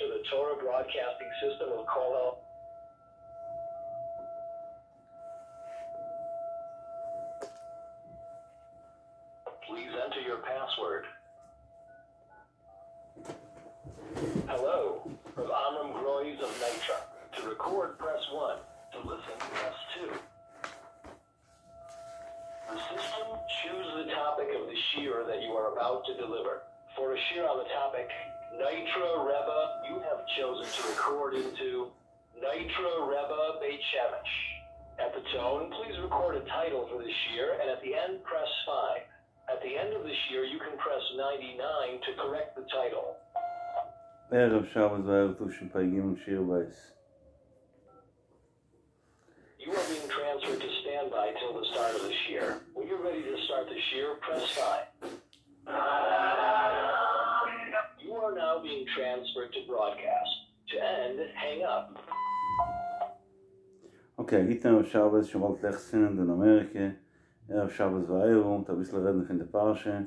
to the Torah Broadcasting System of Kollel. Please enter your password. Hello, Rav Amram Groys of Nitra. To record, press 1. To listen, press 2. The system choose the topic of the shiur that you are about to deliver. For a shiur on the topic, Nitra Rebbe, you have chosen to record into Nitra Rebbe Beit Shemesh. At the tone, please record a title for the shiur, and at the end, press 5. At the end of the shiur, you can press 99 to correct the title. ערב שבת וארא תשפ"ג שיעור בית. You are being transferred to standby till the start of the shiur. When you're ready to start the shiur, press 5. You are now being transferred to broadcast. To end, hang up. Okay, א גוטן ערב שבת, שוין באלד לעכט צינדן אין אמעריקע, ערב שבת וארא, מ'וועט אביסל רעדן פון די פרשה,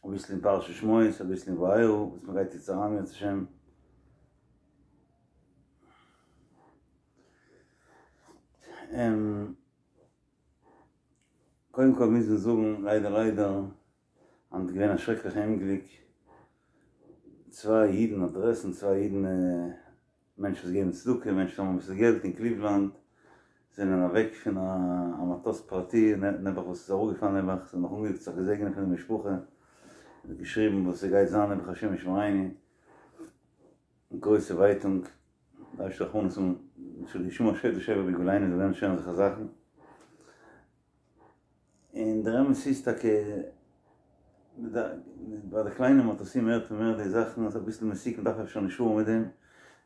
אביסל אין פרשת שמות, אביסל אין וארא, וואס מ'גייט יעצט אריין אם ירצה השם. קודם כל מוז מען זאגן, ליידער ליידער, היינט איז געווען א שרעקליכע אומגליק, צוויי אידן אדרעסן, צוויי אידן מענטשן וואס געבן צדקה, מענטשן וואס האבן אביסל געלט אין קליוולאנד, זענען אוועק פון א מטוס פרטי נעבעך וואס איז אראפגעפאלן נעבעך, זיי האבן נאך אנגעזאגט זיך געזעגענען פון די משפחה, און געשריבן וואס ס'גייט זיין נעבעך השם ישמרינו, גרויסע ווייטונג, דער אייבערשטער רחמנות האבן, שלא ישמע שוד ושבר בגבולנו, זאל ווערן שוין אזעלכע זאכן. און דער אמת איז טאקע, ביי די קליינע מטוסים הערט מען מער די זאכן, אז אביסל מסוכן מ'דארף אפשר נישט פארן מיט דעם,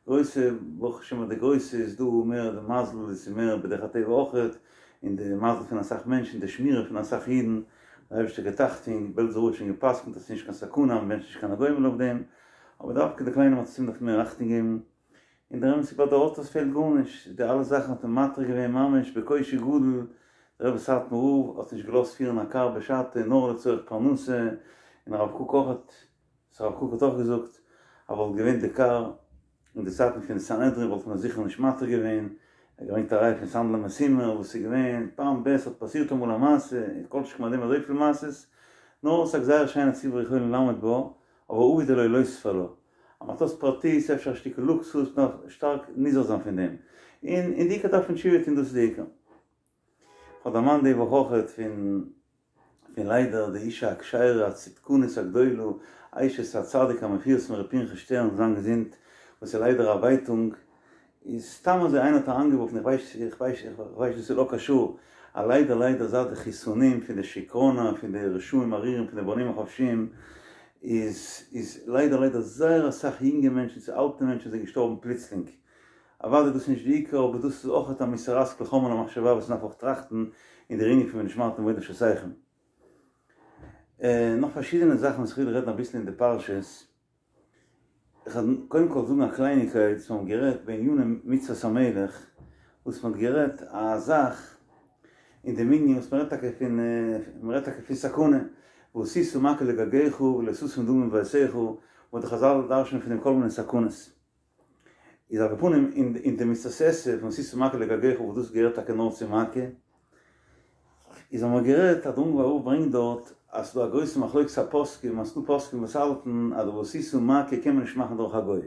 גרויסע, ברוך השם ביי די גרויסע איז דא מער די מזל, עס איז מער בדרך הטבע אויכעט, און די מזל פון אסאך מענטשן, די שמירה פון אסאך אידן, דער אייבערשטער געבט אכטונג, בעלזער רב האט שוין גע'פסק'נט אז עס איז נישט קיין סכנה, מען בענטשט נישט קיין הגומל אויף דעם, אבער דווקא די קליינע מטוסים דארף מען מער אכטונג געבן. און דער אמת איז ביי די אויטאס פעלט גארנישט, די אלע זאכן האט מען מתיר געווען ממש בקושי גדול, דער רבי סאטמאר רב האט נישט געלאזט פירן א קאר בשעתו נאר לצורך פרנסה, און הרב קוק אויך האט, הרב קוק האט אויך געזאגט אז וואלט געווען די קאר אין די צייטן פון סנהדרין וואלט מען עס זיכער נישט מתיר געווען, ער האט געברענגט א ראיה פון סנדל המסומר וואס איז געווען פעם ב' האט פאסירט אמאל א מעשה, און כל שכן ביי דעם אזויפיל מעשות, נאר ס'איז א גזירה שאין הציבור יכולין לעמוד בה, אבער עביד עילויה לא תספר לה. א מטוס פרטי איז אפשר א שטיקל לוקסוס, מ'דארף שטארק נזהר זיין פון דעם. און און די עיקר דארף מען תשובה טון דאס איז די עיקר. כ'האב דערמאנט די וואך אויכעט פון פון ליידער די אישה הכשרה הצדקנית הגדולה אשת הצדיק המפורסם ר' פנחס שטערן זאל זיין געזונט וואס איז ליידער א ווייטונג איז סתם אזוי איינער האט אריינגעווארפן איך ווייס איך ווייס איך ווייס דאס איז לא קשור אז ליידער ליידער זייט די חיסונים פון די שיקראנא פון די רשעים ארורים פון די בונים החופשיים איז איז ליידער ליידער זייער אסאך יונגע מענטשן צו אלטע מענטשן זענען געשטארבן פלוצלינג אוודאי דאס איז נישט די עיקר אבער דאס איז אויכעט א מוסר השכל חומר למחשבה וואס מ'דארף אויך טראכטן אין דער ענין פון ונשמרתם מאד לנפשותיכם. נאך פארשידענע זאכן וואס איך וויל רעדן אביסל אין די פרשות. איך וועל קודם כל זאגן א קלייניגקייט, וואס מ'האט גערעדט בעניני מצוות המלך, וואס מ'האט גערעדט א זאך אין דעם ענין וואס מ'רעדט טאקע פון, מ'רעדט טאקע פון סכנה, ועשית מעקה לגגך ולא תשים דמים בביתך, וואס די חזל דרש'נען פון דעם כל מיני סכנות. איז על כל פנים אין די מצות עשה פון ועשית מעקה לגגך וואס דאס געהערט טאקע נאר צו מעקה, איז האבן מיר גערעדט אז דער אונגוואר רב ברענגט דארט אז ס'דא א גרויסע מחלוקת הפוסקים אז ס'דא פוסקים וואס האלטן אז די ועשית מעקה קען מען נישט מאכן דורך א גוי,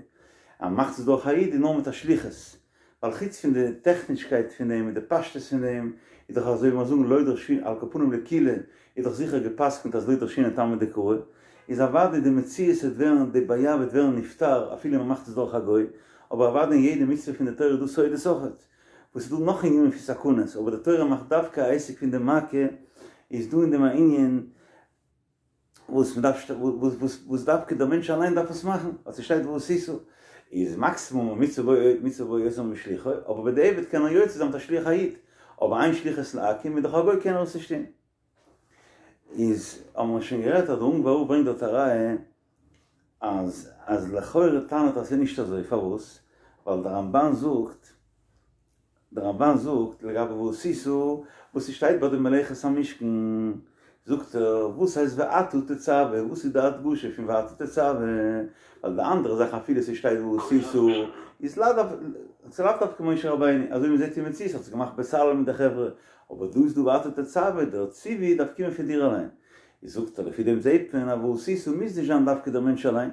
אז מ'מאכט עס דורך א איד איז נאר מיט א שליחות, ווייל חוץ פון די טעכנישקייט פון דעם און די פשטות פון דעם, איז דאך אזוי ווי מיר זאגן לא דרשינן, על כל פנים לקולא, איז דאך זיכער גע'פסק'נט אז לא דרשינן טעמא דקרא, איז אוודאי די מציאות וועט ווערן, די בעיה וועט ווערן נפתר אפילו מען מאכט עס דורך א גוי, אבער אוודאי אין יעדע מצוה פון די תורה איז דא סודות אויכעט, וואס איז דא נאך ענינים פון סכנות, אבער די תורה מאכט דווקא א עסק פון די מעקה, איז דא אין דעם א ענין וואס מען דארף וואס דווקא דער מענטש אליין דארף עס מאכן, ווייל ס'שטייט ועשית, איז מקסימום מצוה בו מצוה בו יותר משלוחו, אבער בדיעבד קען ער יוצא זיין מיט א שליח א איד, אבער אין שליחות לעכו"ם איז דאך א גוי קען ער עס נישט טון. איז האבן מיר שוין גערעדט אז דער אונגוואר רב ברענגט דארט א ראיה אז אז לכאורה טענה'ט אז ס'איז נישט אזוי, פארוואס? ווייל דער רמב"ן זאגט דער רמב"ן זאגט לגבי ועשית וואס ס'שטייט ביי די מלאכת המשכן. זאגט ער, וואס הייסט ואתה תצוה? וואס איז די הדגשה פון ואתה תצוה? ווייל די אנדערע זאכן אפילו ס'שטייט ועשית איז לאו דווקא, ס'איז לאו דווקא משה רבינו, אזוי ווי מ'זעט אין מציאות האט עס געמאכט בצלאל מיט די חברה, אבער דא איז דא ואתה תצוה, דער ציווי דארף קומען פון דיר אליין. איז זאגט ער, לפי דעם זעט מען אז ועשית מוז נישט זיין דווקא דער מענטש אליין,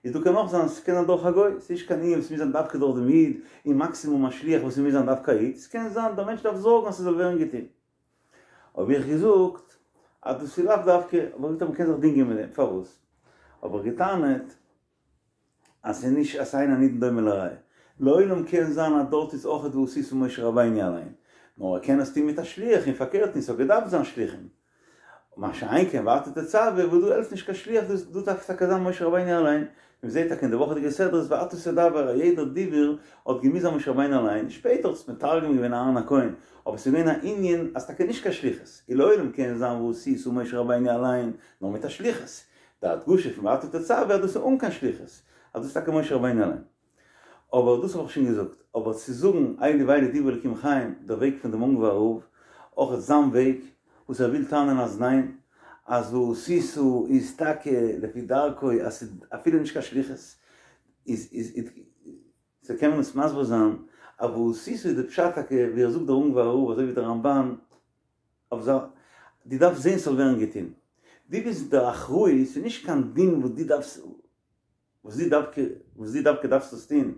איז דא קען אויך זיין, ס'קען זיין דורך א גוי, ס'איז נישט קיין ענין וואס מוז זיין דווקא דורך דעם איד, און מאקסימום א שליח וואס ס'מוז זיין דווקא א איד, ס'קען זיין דער מענטש דארף זארגן אז ס'זאל ווערן געטון. האב איך געזאגט אז דאס איז לאו דווקא, האב איך געזאגט אז מ'קען זיך דינגען מיט דעם, פארוואס? האב איך געטענה'ט אז ס'איז נישט אז אין הנידון דומה לראיה, לעולם קען זיין אז דארט איז אויכעט ועשית משה רבינו אליין, נאר ער קען עס טון מיט א שליח און פארקערט און ס'האט געדארפט זיין שליחים, מה שאין כן ואתה תצוה וואס דא העלפט נישט קיין שליח דאס דא דארף טאקע זיין משה רבינו אליין, מען זעט טאקע אין די וואכעדיגע סדרה איז ואתה תדבר אז יעדער דיבור האט געמוזט זיין משה רבינו אליין, שפעטער האט עס מתרגם געווען אהרן הכהן, אבער ס'איז געווען א ענין אז טאקע נישט קיין שליחות, און לעולם קען זיין ועשית משה רבינו אליין נאר מיט א שליחות, די הדגשה פון ואתה תצוה אז דאס איז אן קיין שליחות, אז דאס איז טאקע משה רבינו אליין. אבער דאס האב איך שוין געזאגט, אבער צו זאגן אלו ואלו דברי אלקים חיים, דער וועג פון דעם אונגוואר רב, אויך זיין וועג, וואס ער וויל טענה'ן אז ניין, אז ועשית איז טאקע לפי דרכו אז ס'איז אפילו נישט קיין שליחות, איז איז איז סאו קען מען עס מסביר זיין אז ועשית איז די פשט טאקע ווי ער זאגט דער אונגוואר רב אזוי ווי דער רמב"ן, אויף זיין, דו דארפסט זען ס'זאל ווערן געטון, דו ביסט דער אחראי, ס'איז נישט קיין דין וואס דו דארפסט. וואס דו דווקא, וואס דו דווקא דארפסט עס טון,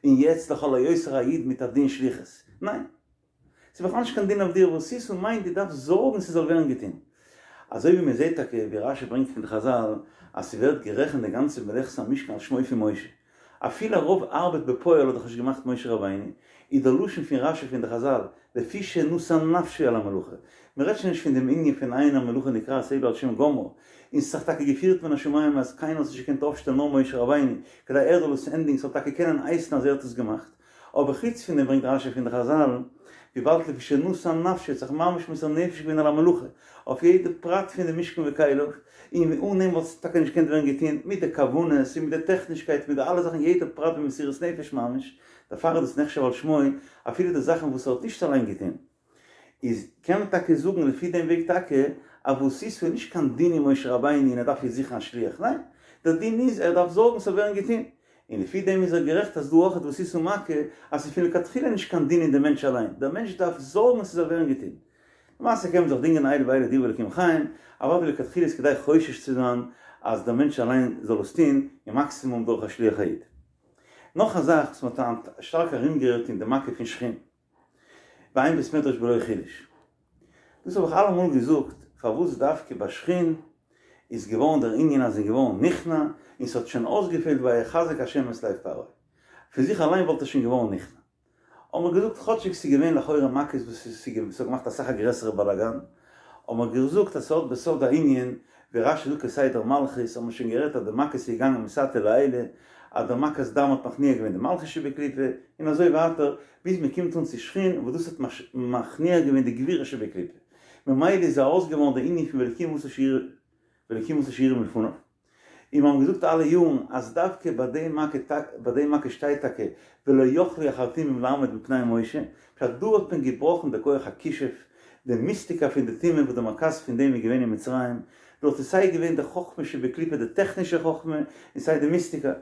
און יעצט לכל היותר א איד מיט א דין שליחות. ניין. ס'איז בכלל נישט קיין דין אויף דיר, ועשית מיינט דו דארפסט זארגן ס'זאל ווערן געטון. אזוי ווי מען זעט טאקע ווי רשי ברענגט פון די חזל אז ס'ווערט גערעכנט די גאנצע מלאכת המשכן על שמו פון משה. אפילו רוב ארבעט בפועל האט דאך נישט געמאכט משה רבינו, איז דער לשון פון רשי פון די חזל, לפי שנתן נפשו על המלאכה. מען רעדט שוין נישט פון דעם ענין פון אין המלאכה נקראת אלא על שם גומרה, און ס'איז דאך טאקע געפירט מן השמים אז קיינער האט זיך נישט געקענט אויפשטעלן נאר משה רבינו, כדי ער זאל עס ענדיגן ס'זאל טאקע קענען הייסן אז ער האט עס געמאכט. אבער חוץ פון דעם ברענגט רשי פון די חזל, וויבאלד לפי שנתן נפשו האט זיך ממש מוסר נפש געווען על המלאכה, אויף יעדע פרט פון די משכן וכליו, און אן אים וואלט עס טאקע נישט געקענט ווערן געטון, מיט די כוונות און מיט די טעכנישקייט מיט די אלע זאכן יעדע פרט במסירות נפש ממש, דערפאר איז דאס נחשב על שמו, אפילו די זאכן וואס ער האט נישט אליין געטון. איז קען מען טאקע זאגן לפי דעם וועג טאקע אז ועשית איז נישט קיין דין אין משה רבינו און ער דארף יעצט זוכן א שליח, ניין, דער דין איז ער דארף זארגן ס'זאל ווערן געטון, און לפי דעם איז ער גערעכט אז דא אויך ועשית מכה אז ס'איז פון לכתחילה נישט קיין דין אין דעם מענטש אליין, דער מענטש דארף זארגן ס'זאל ווערן געטון. למעשה קען מען זיך דינגען אלו ואלו דברי אלקים חיים, אבער לכתחילה איז כדאי חושש צו זיין אז דער מענטש אליין זאל עס טון, און מאקסימום דורך א שליח א איד. נאך א זאך וואס מ'האט היינט שטארק ארומגערעדט אין די מכה פון שחין. ואין בית מדרש בלא חידוש. דאס האב איך אלעמאל געזאגט, פארוואס דווקא ביי שחין איז געווארן דער ענין אז זיי געווארן נכנע, און ס'האט שוין אויסגעפעלט ויחזק השם את לב פרעה. פון זיך אליין וואלט ער שוין געווארן נכנע. האבן מיר געזאגט כאטשיג ס'איז געווען לכאורה מכות וואס ס'האט געמאכט אסאך א גרעסערע באלאגאן, האבן מיר געזאגט אז ס'האט בסוד א ענין, ווי רשי זאגט כסדר מלכות, האבן מיר שוין גערעדט אז די מכות איז געגאנגען מתתא לעילא, אז דער מכת דם האט מכניע געווען די מלכות שבקליפה, און אזוי ווייטער, ביז מען קומט אן צו שחין וואס דאס האט מכניע געווען די גבורה שבקליפה, ממילא איז ארויס געווארן די ענין פון ואלקים עשה שיראו ואלקים עשה שיראו מלפניו. און מיר האבן געזאגט אלע יארן אז דווקא ביי די מכה ביי די מכה שטייט טאקע ולא יכלו החרטומים לעמוד מפני משה, פשט דא האט מען געבראכן די כח הכישוף, די מיסטיקה פון די טומאה וואס די מרכז פון דעם איז געווען אין מצרים, דארט איז סיי געווען די חכמה שבקליפה די טעכנישע חכמה און סיי די מיסטיקה.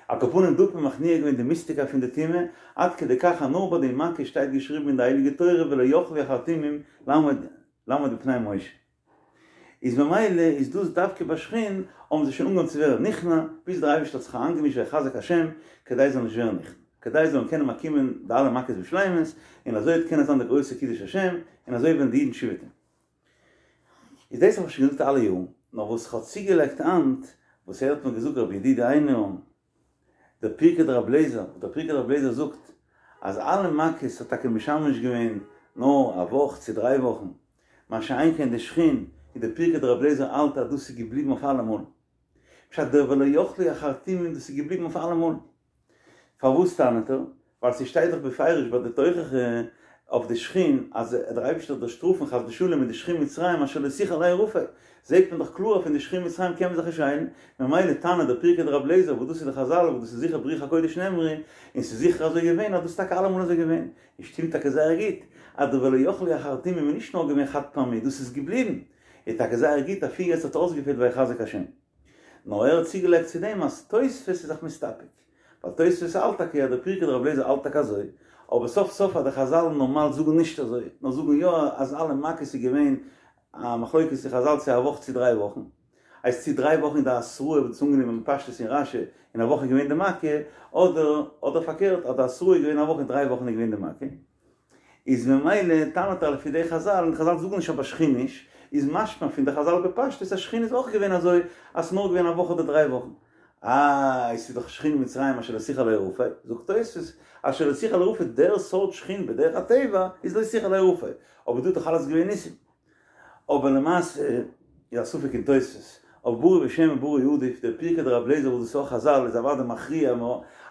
על כל פנים דא האט מען מכניע געווען די מיסטיקה פון די טומאה, עד כדי כך אז נאר ביי די מכה שטייט געשריבן אין די הייליגע תורה ולא יכלו החרטומים לעמוד לעמוד מפני משה. איז ממילא איז דאס דווקא ביי שחין האבן זיי שוין אנגעהויבן צו ווערן נכנע, ביז דער אייבערשטער האט זיך אריינגעמישט ויחזק השם כדי זיי זאלן נישט ווערן נכנע, כדי זיי זאלן קענען באקומען די אלע מכות בשלימות, און אזוי וועט קענען זיין די גרויסע קידוש השם, און אזוי וועלן די אידן תשובה טון. איז דאס האב איך שוין געזאגט אלע יארן, נאר וואס איך האב צוגעלייגט היינט, וואס ער האט מיר געזאגט רבי ידיד איינהארן, דער פרקי דרבי אליעזר, וואס דער פרקי דרבי אליעזר זאגט אז אלע מכות האט טאקע משמש געווען נאר א וואך צו דריי וואכן, מה שאין כן די שחין, איז דער פרקי דרבי אליעזר האלט אז דאס איז געבליבן אויף אלעמאל. פשט דער ולא יכלו החרטומים דאס איז געבליבן אויף אלעמאל. פארוואס טענה'ט ער? ווייל ס'שטייט דאך בפירוש ביי די תוכחה אויף די שחין אז דער אייבערשטער וועט דיר שטראפן חס ושלום מיט די שחין מצרים אשר לא תוכל להרפא, זעט מען דאך קלאר אז פון די שחין מצרים קען מען זיך נישט היילן, ממילא טענה'ט דער פרקי דרבי אליעזר וואס דאס איז די חזל וואס דאס איז זיכער ברוח הקודש נאמרו, און ס'איז זיכער אזוי געווען אז דאס איז טאקע אלעמאל אזוי געווען, און שטימט טאקע זייער גוט אז די ולא יכלו החרטומים איז נישט נאר געווען חד פעמי דאס איז געבליבן. איז טאקע זייער גוט אפי' יעצט האט אויסגעפעלט ויחזק השם. נאר ער האט צוגעלייגט צו דעם אז תוספות איז זיך מסתפק. ווייל תוספות האלט טאקע אז דער פרקי דרבי אליעזר האלט טאקע אזוי, אבער סוף סוף אז די חזל נארמאל זאגן נישט אזוי, נאר זאגן יא אז אלע מכות איז געווען א מחלוקת אין חזל צו א וואך צו דריי וואכן. הייסט צו דריי וואכן איז די התראה וואס איז אנגענומען בפשטות אין רשי און א וואך איז געווען די מכה, אדער אדער פארקערט אז די התראה איז געווען א וואך און דריי וואכן איז געווען די מכה. איז ממילא טענה'ט ער לפי די חזל, און די חזל זאגן נישט אבער שחין נישט, איז משמע פון די חזל בפשטות אז שחין איז אויך געווען אזוי אז ס'איז נאר געווען א וואך אדער דריי וואכן. איי ס'איז דאך שחין מצרים אשר לא תוכל להרפא, זאגט תוספות, אשר לא תוכל להרפא דער סארט שחין בדרך הטבע איז לא תוכל להרפא, אבער דא איז דאך אלעס געווען ניסים. אבער למעשה איז א ספק אין תוספות, אבער ברי בשם וברי עדיף, דער פרקי דרבי אליעזר וואס דאס איז אויך חזל איז אוודאי מכריע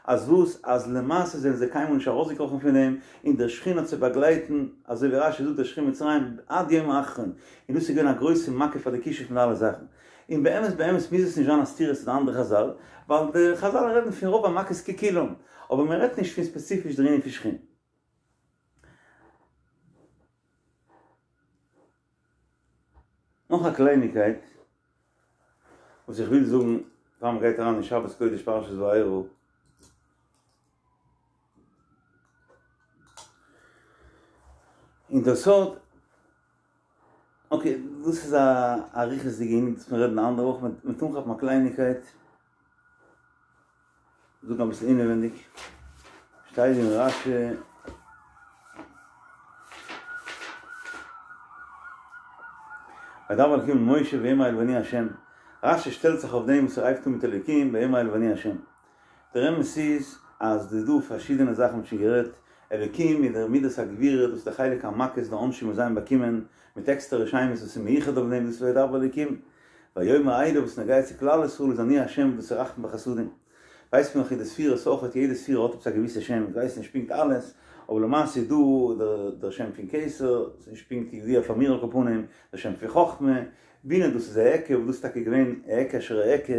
אז וואס אז למעשה זענען זיי קיינמאל נישט ארויסגעקראכן פון דעם, און דער שחין האט זיי באגלייטן, אזוי ווי רשי זאגט דער שחין מצרים עד יום האחרון, און דאס איז געווען א גרויסע מכה פאר די כישוף מיט אלע זאכן. און באמת באמת מוז עס נישט זיין א סתירה צו די אנדערע חזל, ווייל די חזל רעדן פון רוב המכות ככולם, אבער מען רעדט נישט פון ספעציפיש דער ענין פון שחין. נאך א קלייניגקייט וואס איך וויל זאגן פאר מען גייט אריין אין שבת קודש פרשת וארא, און דער סוד, אקעי דאס איז א אריכות'דיגע ענין דאס מיר רעדן א אנדערע וואך, מ'וועט אנכאפן א קלייניגקייט. זאגן אביסל אינעווענדיג, שטייט אין רשי, וידבר אלקים אל משה ויאמר אליו אני השם, רשי שטעלט זיך אויף דעם וואס ער הייבט אן מיט אלוקים ויאמר אליו אני השם, דער אמת איז אז ס'איז דא פארשידענע זאכן מ'האט שוין גערעדט, אלוקים איז דער מידת הגבורה דאס איז דער חלק המכות די עונשים וואס זיי האבן באקומען מיט עקסטערע שמות וואס איז מיוחד אויף דעם דאס איז וידבר אלוקים, ויאמר אליו וואס נוגע צו כלל ישראל איז אני השם דאס איז רחמים וחסדים. ווייסט מען נאך אין די ספירות אויכעט יעדע ספירה האט עפעס א געוויסע שם איך ווייס נישט פונקט אלעס אבער למעשה איז דא דער שם פון כתר ס'איז נישט פונקט ידוע פאר מיר על כל פנים דער שם פון חכמה בינה דאס איז אעקה וואס דאס איז טאקע געווען אעקה אשר אעקה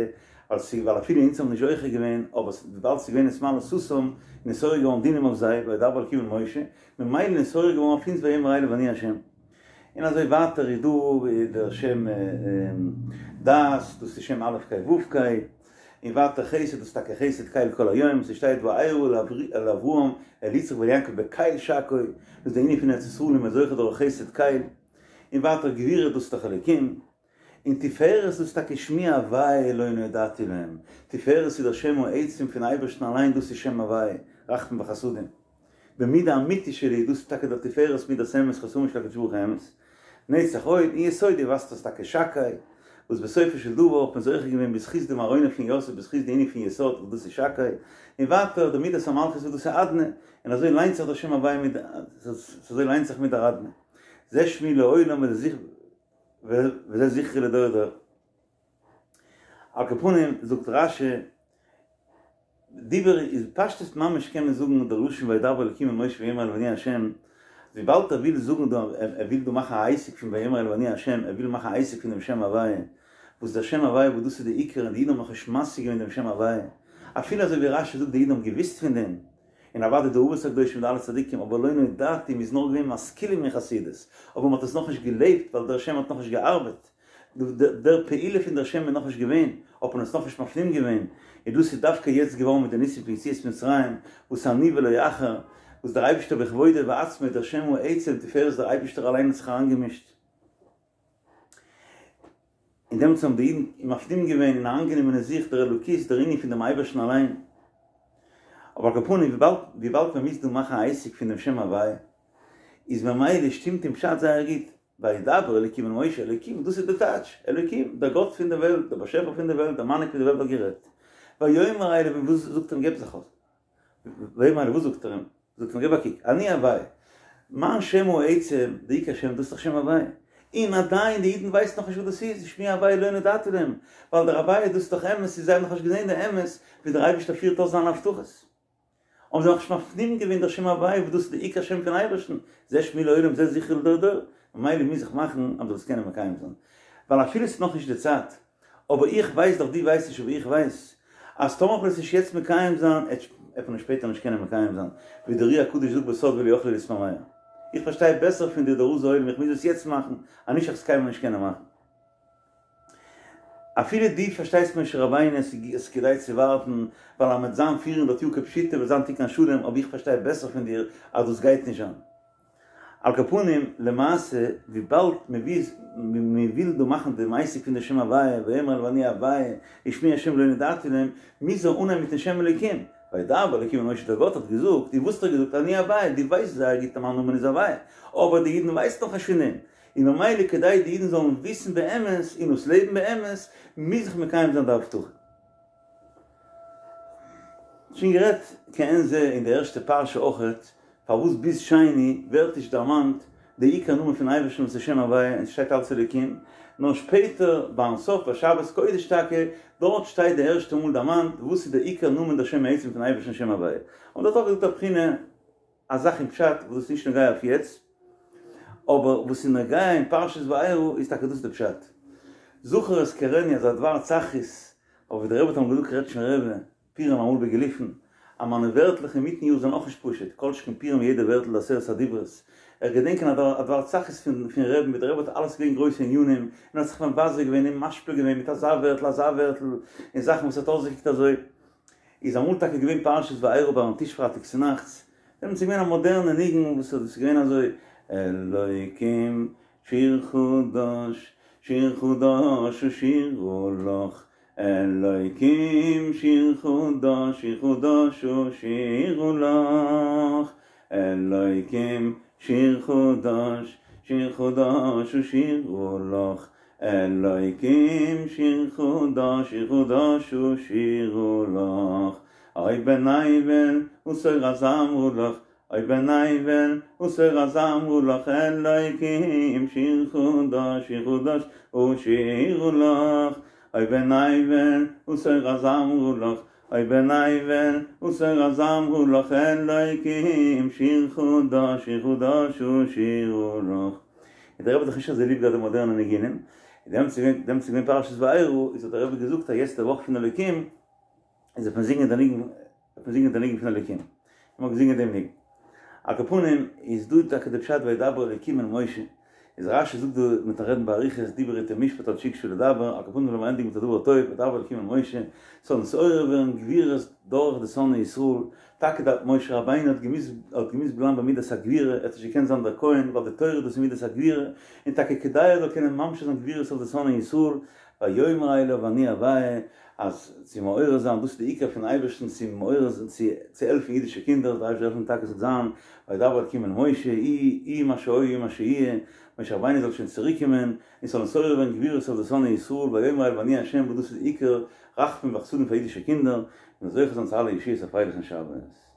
ווייל ס'איז ווייל אפילו אונז האבן נישט זוכה געווען אבער וויבאלד ס'איז געווען נתמלא סתום איז נתעורר געווארן דינים אויף זיי וידבר אלקים אל משה ממילא נתעורר געווארן אויף אונז ויאמר אליו אני השם. און אזוי ווייטער איז דא דער שם דעת, דאס איז שם א' ק' ו' ק', און ווייטער חסד, דאס איז טאקע חסד קל כל היום, ס'שטייט וארא אל אברהם אל יצחק ואל יעקב בקל שקי, דאס איז די ענין פון ארץ ישראל און מ'איז זוכה דורך חסד קל, און ווייטער גבורה דאס איז דאך אלוקים, און תפארת דאס איז טאקע שמי הוויה לא נודעתי להם, תפארת איז דער שם העצם פון אייבערשטן אליין דאס איז שם הוויה, רחמים וחסדים. במידה אמיתית שלי, דאס איז טאקע דער תפארת מידת אמת חתמו של הקדוש ברוך הוא אמת. נצח הוד און יסוד די ווייסט דאס טאקע שקי, וואס בסופו של דבר האט מען זוכה געווען בזכות דעם ארונו פון יוסף בזכות די ענין פון יסוד וואס דאס איז שקי, און ווייטער די מידת המלכות וואס דאס איז אדני, און אזוי ליינט זיך דער שם הוויה מיט אזוי ליינט זיך מיט דער אדני. זה שמי לעולם וזה זכרי לדור דור. על כל פנים זאגט רשי, דיבר איז פשטות ממש קען מען זאגן דער לשון וידבר אלקים אל משה ויאמר אליו אני השם, וויבאלד ער וויל זאגן דא, ער וויל דא מאכן א עסק פון ויאמר אליו אני השם, ער וויל מאכן א עסק פון דעם שם הוויה, וואס דער שם הוויה וואס דאס איז די עיקר און די אידן האבן נאכנישט משיג געווען דעם שם הוויה, אפילו אזוי ווי רשי זאגט די אידן האבן געוואוסט פון דעם, און אוודאי די אבות הקדושים די אלע צדיקים, אבער לא נודעתי, מ'איז נאר געווען משכילים אין חסידות, אבער מ'האט עס נאכנישט געלעבט ווייל דער שם האט נאכנישט געארבעט. דער פעולה פון דער שם איז נאכנישט געווען, האט מען עס נאכנישט מפנים געווען, און דאס איז דווקא יעצט געווארן מיט די ניסים פון יציאת מצרים, וואס אני ולא אחר, וואס דער אייבערשטער בכבודו ובעצמו דער שם העצם תפארת דער אייבערשטער אליין האט זיך אריינגעמישט, און דעמאלטס האבן די אידן מפנים געווען און אריינגענומען אין זיך דער אלוקות, דער ענין פון דעם אייבערשטן אליין. אבער על כל פנים, וויבאלד מען מוז דא מאכן א עסק פון דעם שם הוויה, איז ממילא שטימט אין פשט זייער גוט, וידבר אלוקים אל משה, אלוקים, דאס איז די טייטש, אלוקים, דער גאט פון דער וועלט, דער באשעפער פון דער וועלט, דער מנהיג פון דער וועלט האט גערעדט. ויאמר אליו, און וואס זאגט ער אים, געב זיך אויס. ויאמר אליו, וואס זאגט ער אים? זאגט אים, געב א קוק, אני הוויה, מיין שם העצם, די עיקר שם, דאס איז דאך שם הוויה. און עדיין, די אידן ווייסן נאכנישט וואס דאס איז, שמי הוויה לא נודעתי להם, ווייל דער הוויה, דאס איז דאך אמת, און זיי האבן נאכנישט געזען די אמת, ווי דער אייבערשטער פירט אויס זיינע הבטחות. האבן זיי נאכנישט מפנים געווען דער שם הוויה וואס דאס איז די עיקר שם פון אייבערשטן, זה שמי לעולם זה זכרי לדור דור, ממילא מוז איך מאכן אז מ'זאל עס קענען מקיים זיין, ווייל אפילו ס'איז נאכנישט די צייט, אבער איך ווייס דאך, דו ווייסט נישט אבער איך ווייס, אז טאמער כ'וועל עס נישט יעצט מקיים זיין, עט מען עס שפעטער נישט קענען מקיים זיין, ווי דער אר"י הקדוש זאגט בסוד ולא יכלו להתמהמה. איך פארשטיי בעסער פון דיר דער רז העולם איך מוז עס יעצט מאכן, אנישט איך עס קיינמאל נישט קענען מאכן. אפילו דו פארשטייסט משה רבינו עס איז כדאי צו ווארטן ווייל אז מ'וועט זיין 400 יאר כפשוטו וועט זיין תיקון השלם אבער איך פארשטיי בעסער פון דיר אז דאס גייט נישט זיין. על כל פנים, למעשה וויבאלד מ'וויל דא מאכן דעם עסק פון די שם הוויה ויאמר אליו אני הוויה ושמי השם לא נודעתי להם מוז ער אנהייבן מיטן שם אלוקים וידבר אלוקים אל משה דער גאט האט געזאגט און וואס האט ער געזאגט אני הוויה דו ווייסט זייער גוט אז מיין נאמען איז הוויה אבער די אידן ווייסן נאך נישט פון דעם און ממילא כדי די אידן זאלן וויסן באמת און עס לעבן באמת, מוז איך מקיים זיין די הבטחה. שוין גערעדט כעין זה אין די ערשטע פרשה אויכעט, פארוואס ביז שני ווערט נישט דערמאנט די עיקר נאמען פון אייבערשטן וואס איז שם הוויה און ס'שטייט אלץ אלוקים, נאר שפעטער ביים סוף ביי שבת קודש טאקע, דארט שטייט די ערשטע מאל דערמאנט וואס איז די עיקר נאמען דער שם העצם פון אייבערשטן שם הוויה. און דארט אויך געזאגט א בחינה. א זאך אין פשט וואס איז נישט נוגע אויף יעצט, אבער וואס איז נוגע אין פרשת וארא איז טאקע דאס די פשט. זכור אזכרנו אזא דבר צחות, אבער ווי דער רבי האט אמאל געזאגט קרעטשמער רבי, פורים אמאל בגילופין, אז מיינע ווערטלעך אינמיטן יאר זענען אויך נישט פשוט, כל שכן פורים יעדע ווערטל די עשרת הדיברות. איך געדענק א דבר צחות פון פון רבי'ן ווי דער רבי האט אלעס געווען גרויסע ענינים, און האט זיך מבזה געווען און משפיל געווען מיט אזא ווערטל אזא ווערטל, און זאכן וואס האט אויסגעקוקט אזוי. איז אמאל טאקע געווען פרשת וארא ביים טיש פרייטאג צונאכטס, דעמאלטס איז געווען א מאדערנע ניגון וואס איז געווען אזוי, אלוקים שיר חדש, שיר חדש אשירה לך, אלוקים שיר חדש, שיר חדש אשירה לך, אלוקים שיר חדש, שיר חדש אשירה לך, אלוקים שיר חדש שיר חדש אשירה לך, אוי בן אבל ותור אזמרה לך, אוי בן אבל ותור אזמרה לך, אלוקים שיר חדש שיר חדש אשירה לך, אוי בן אבל ותור אזמרה לך, אוי בן אבל ותור אזמרה לך, אלוקים שיר חדש שיר חדש אשירה לך. און דער רבי האט דאך נישט אזוי ליב געהאט די מאדערנע ניגונים, און דעמאלטס איז געווען דעמאלטס איז געווען פרשת וארא, איז האט דער רבי געזאגט אז יעצט די וואך פון אלוקים, איז וועט מען זינגען די ניגון, וועט מען זינגען די ניגון פון אלוקים, און מען האט געזינגען דעם ניגון. על כל פנים איז דא טאקע די פשט וידבר אלוקים אל משה, איז רשי זאגט דא מ'וועט רעדן באריכות דיבר אתו משפט עד שהקשה לדבר, על כל פנים לאמיר ענדיגן מיט א דבר טוב, וידבר אלוקים אל משה, ס'זאל נתעורר ווערן גבורות דורך די שונאי ישראל, טאקע דער משה רבינו האט געמוזט האט געמוזט בלייבן ביי מידת הגבורה, ער האט נישט געקענט זיין דער כהן ווייל די תורה דאס איז מידת הגבורה, און טאקע כדי ער זאל קענען ממשיך זיין גבורות אויף די שונאי ישראל, ויאמר אליו אני הוויה, אז צו מעורר זיין, דאס איז די עיקר פון אייבערשטן צו מעורר זיין צו צו העלפן אידישע קינדער, זאל דער אייבערשטער העלפן טאקע ס'זאל זיין וידבר אלקים אל משה, יהי מה שהיה יהי מה שיהיה, משה רבינו זאל שוין צוריק קומען, און ס'זאל נתעורר ווערן גבורות אויף די שונאי ישראל, ויאמר אליו אני ה' וואס דאס איז די עיקר רחמים וחסדים פאר אידישע קינדער, און זוכה זיין צו אלע ישועות א פרייליכן שבת.